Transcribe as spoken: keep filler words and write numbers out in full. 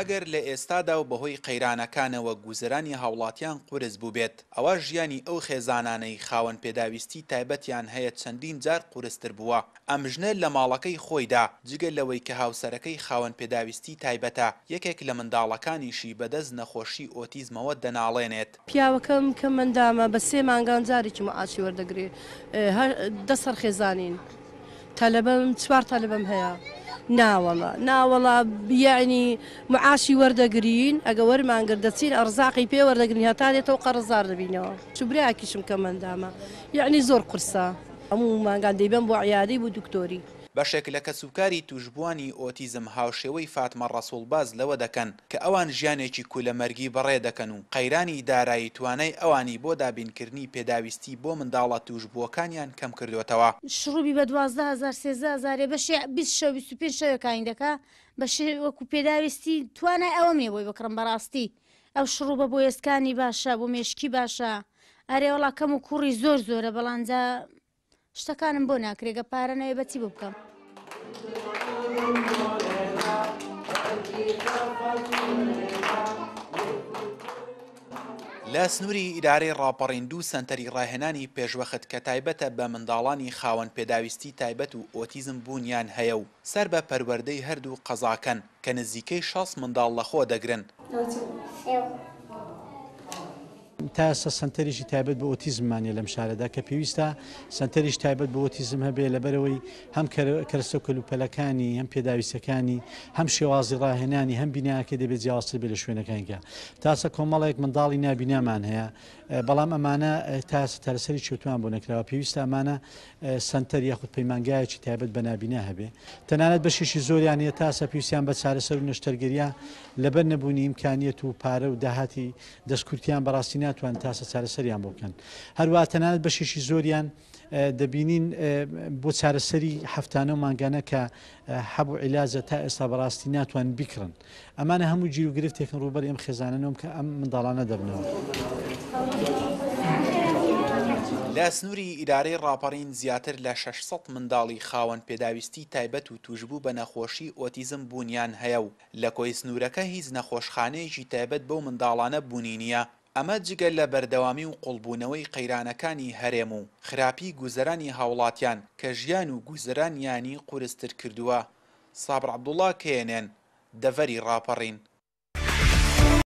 ئەگەر لە ئێستادا و بەهۆی قەیرانەکانەوە گوزەرانی هاوڵاتیان قورس بووبێت، ئەوا ژیانی ئەو خێزانانەی خاوەن پێداویستی تایبەتیان هەیە چەندین جار قورستر بووە. ئەم ژنە لە ماڵەکەی خۆیدا جگە لەوەی کە هاوسەرەکەی خاوەن پێداویستی تایبەتە، یەکێک لە منداڵەکانیشی بەدەست نەخۆشی ئۆتیزمەوە دەناڵێنێت. پیاوەکەم کە مندامە بە سێ مانگان جارێکی معاشی وەردەگرێ، دە سەر خێزانین، تەلەبەم چوار تەلەبەم هەیە. ناوەڵا ناوەڵا یعنی معاشی وەردەگرین، ئەگە وەرمانگرت دەچین ئەرزاقی پێ وەردەگرین هەتا دێتەوە قەرزار دەبینەوە. چ برایەکیشم کە مندامە، یعنی زۆر قورسە، هەموو مانگان دەیبەم بۆ عیادەی بۆ دکتۆری. بەشێک لە کەسوکاری توشبووانی ئۆتیزم هاوشێوەی فاتمە ڕەسوڵ باس لەوە دەکەن کە ئەوان ژیانێکی کولەمەرگی بەڕێ دەکەن و قەیرانی دارایی توانای ئەوانی بۆ دابینکردنی پێداویستی بۆ منداڵە توشبووەکانیان کەم کردوێتەوە. شروبی بە دوازدە هەزار سێزدە هەزارێ بەشێ بیست شەو بیست و پێنج شەوێکانی دەکا، بەشێ وەکو پێداویستی توانای ئەوەم نییە بۆی بکڕم. بەڕاستی ئەو شڕوبە بۆ ئێسکانی باشە، بۆ مێشکی باشە. ئەرێ وەڵا کەم و کوڕی زۆر زۆرە، بەڵام جا شتەکانم بۆ ناکرێگە پارە نەوێ بەچی بۆ بکەم. لە سنووری ئیدارەی ڕاپەڕین دوو سەنتەری ڕاهێنانی پێشوەخت کە تایبەتە بە منداڵانی خاوەن پێداویستی تایبەت و ئۆتیزم بوونیان هەیە و سەر بە پەروەردەی هەردوو قەزاکەن کە نزیکەی شەست منداڵ لەخۆ دەگرن. تا ئێستا سەنتەرێکی تایبەت بە ئۆتیزممانە لەم شارەدا کە پێویستە سەنتەریش تایبەت بە ئۆتیزم هەبێ، لەبەرەوەی هەم کەرەسە و کەلوپەلەکانی، هەم پێداویستەکانی، هەم شێوازی ڕاهێنانی، هەم بیناکەی دەبێت جیاوازتر بێت لە شوێنەکانیکە. تاسە کۆمەڵێک منداڵی نابینامان هەیە، بەڵام ئەمانە تا ئێستا چارەسەری چێتوان بۆ نەکراوە. پێویستە ئەمانە سەنتەر یاخود پەیمانگایەکی تایبەت بە نابینا هەبێ. تەنانەت بەشێکی زۆریان هەیە تاسە پێویستیان بە چارەسەر و نەشتەرگەریە، لەبەر نەبوونی ئیمکانیەت و پارە و داهاتی دەستکورتیان بەڕاستی ناتوان تاسە چارەسەریان بۆ بکەن. هەروە تەنانەت بەشێکی زۆریان دەبینین بۆ چارەسەری هەفتانە و مانگانە کە حەب و عیلاجە تا ئێستا بەڕاستی ناتوان بیکڕن. ئەمانە هەموو گیر و گرفتێکن ڕووبەری ئەم خێزانەنەوە کە ئەم منداڵانە دەبنەوە. لە سنووری ئیدارەی ڕاپەڕین زیاتر لە شەش سەد منداڵی خاوەن پێداویستی تایبەت و توشبوو بە نەخۆشی ئۆتیزم بوونیان هەیە و لە کۆی سنوورەکە هیچ نەخۆشخانەیەکی تایبەت بەو منداڵانە بوونی نییە. ئەمە جگە لە بەردەوامی و قوڵبوونەوەی قەیرانەکانی هەرێم و خراپی گوزەرانی هاوڵاتیان کە ژیان و گوزەرانیانی قورستر کردووە. سابر عەبدوڵڵا، کێنێن، دەڤەری ڕاپەڕین.